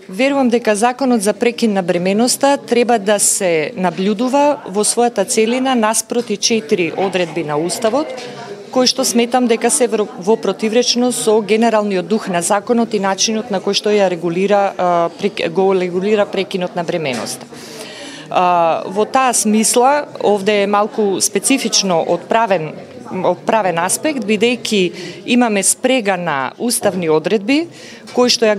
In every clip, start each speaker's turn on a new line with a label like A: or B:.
A: Верувам дека законот за прекин на бременоста треба да се наблюдува во својата целина наспроти 4 одредби на Уставот, кои што сметам дека се во противречност со генералниот дух на законот и начинот на кој што ја го регулира прекинот на бременоста. Во таа смисла, овде е малку специфично од правен аспект, бидејќи имаме спрега на уставни одредби кои што ја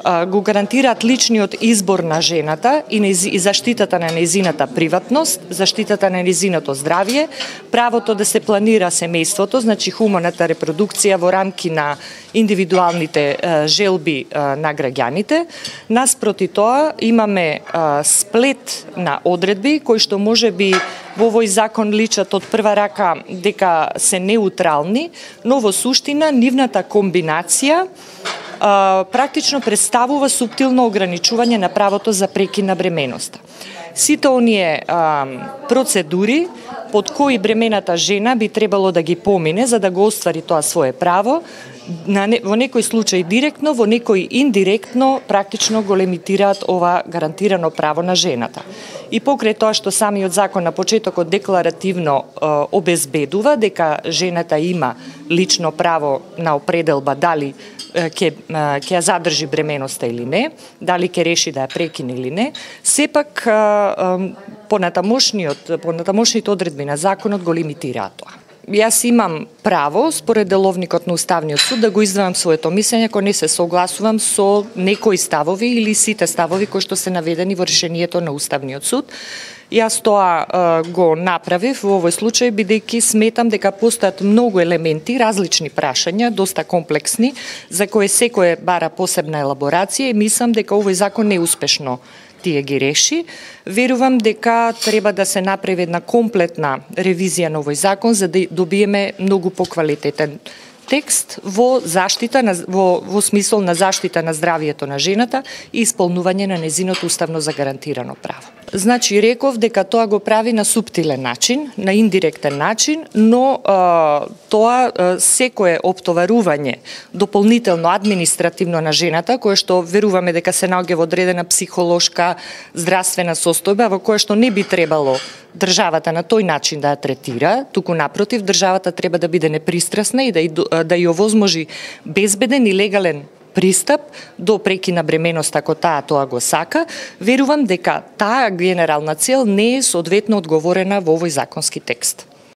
A: го гарантираат личниот избор на жената и заштитата на нејзината приватност, заштитата на нејзиното здравје, правото да се планира семејството, значи хуманата репродукција во рамки на индивидуалните желби на граѓаните. Наспроти тоа имаме сплет на одредби кои што можеби во овој закон личат од прва рака дека се неутрални, но во суштина нивната комбинација практично представува суптилно ограничување на правото за прекин на бременоста. Сите оние процедури под кои бремената жена би требало да ги помине за да го оствари тоа свое право, во некој случај директно, во некој индиректно, практично го лимитираат ова гарантирано право на жената. И покрај тоа што самиот закон на почетокот декларативно обезбедува дека жената има лично право на определба дали ќе ја задржи бременоста или не, дали ќе реши да ја прекине или не, сепак понатамошните одредби на законот го лимитираат тоа. Јас имам право, според деловникот на Уставниот суд, да го издавам своето мислење ако не се согласувам со некои ставови или сите ставови кои што се наведени во решението на Уставниот суд. Јас тоа го направив во овој случај, бидејќи сметам дека постојат многу елементи, различни прашања, доста комплексни, за кои секој бара посебна елаборација и мислам дека овој закон неуспешно тие ги реши. Верувам дека треба да се направи една комплетна ревизија на овој закон за да добиеме многу поквалитетен текст во смисол на заштита на здравјето на жената и исполнување на нејзиното уставно загарантирано право. Значи, реков дека тоа го прави на суптилен начин, на индиректен начин, но тоа секое оптоварување дополнително административно на жената, кое што веруваме дека се наоѓа во одредена психолошка здравствена состојба, во која што не би требало државата на тој начин да ја третира, туку напротив, државата треба да биде непристрасна и да ја овозможи безбеден и легален пристап до прекин на бременост ако таа тоа го сака. Верувам дека таа генерална цел не е соодветно одговорена во овој законски текст.